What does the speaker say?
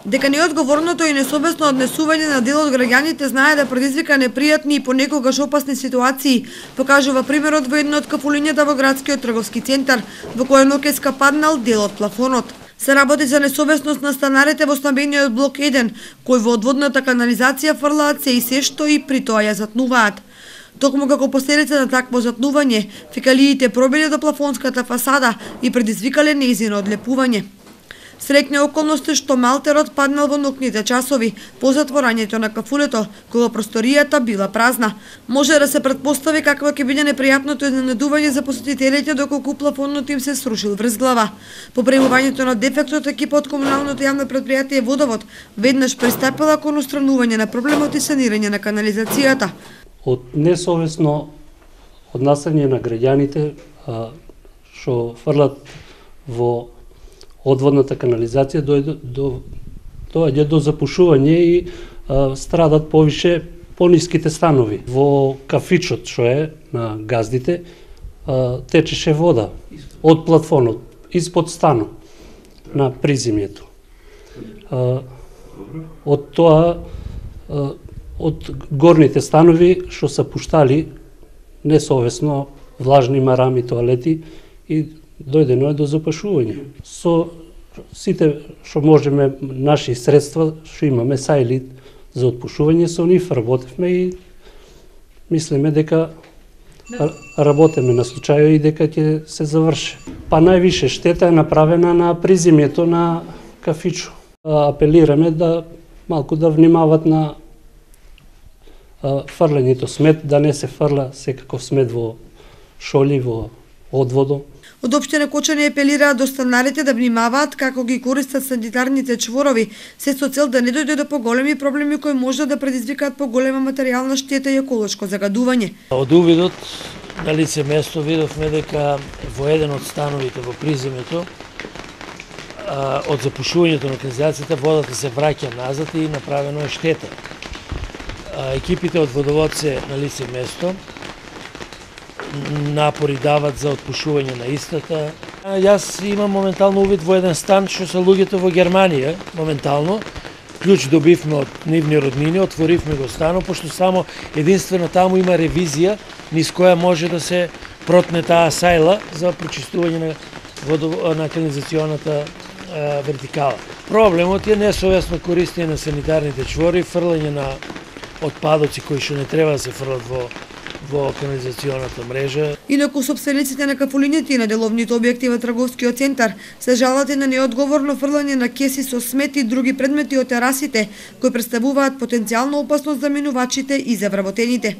Дека неодговорното и несовесно однесување на дел од граѓаните знае да предизвика непријатни и понекогаш опасни ситуации, покажува примерот во една од кафулињата во градскиот трговски центар, во која ноќеска паднал дел од плафонот. Се работи за несовесност на станарите во стамбениот блок 1, кој во одводната канализација фрлаат се и се што и при тоа ја затнуваат. Токму како последица на такво затнување, фекалиите пробиле до плафонската фасада и предизвикале нејзино одлепување. Среќна околност е што малтерот паднал во ноќните часови, по затворањето на кафулето, кога просторијата била празна. Може да се претпостави какво ќе биде непријатното изненадување за посетителите доколку плафонот им се срушил врз глава. По пријавувањето на дефектот, екипа од комуналното јавно претпријатие Водовод веднаш пристапила кон устранување на проблемот и санирање на канализацијата. Од несовесно однасање на граѓаните што фрлат во одводната канализација доаѓа до запушување и страдат повише пониските станови. Во кафичот што е на газдите течеше вода од плафонот испод станот на приземјето. Од тоа од горните станови што се пуштали несовесно влажни марами, тоалети и дојдено е до запашување. Со сите што можеме наши средства што имаме сајли за отпушување, со нив работевме и мислиме дека работеме на случајот и дека ќе се заврши. Па највише штета е направена на приземјето на кафичо. Апелираме да малку да внимават на фрлењето смет, да не се фрла секаков смет во шоли, во одводо. Од општина Кочани апелираат до станарите да внимаваат како ги користат санитарните чворови, се со цел да не дојде до поголеми проблеми кои може да предизвикаат поголема материјална штета и еколошко загадување. Од увидот на лице место видовме дека во еден од становите во приземјето од запушувањето на канализацијата водата се враќа назад и направено е штета. Екипите од Водовод се на лице место, напори дават за отпушување на истата. Јас имам моментално увид во еден стан што се луѓето во Германија, моментално. Клjuč добивме од нивни роднини, отворивме го станот, пошто само единствено таму има ревизија, низ која може да се протне таа сајла за прочистување на канализационата вертикала. Проблемот е несовесно користење на санитарните чвори, фрлање на отпадоци кои што не треба да се фрлат во канализационата мрежа. Инаку сопствениците на кафулињата и на деловните објекти во трговскиот центар се жалат и на неодговорно фрлање на кеси со смет и други предмети од терасите, кои представуваат потенцијална опасност за минувачите и за вработените.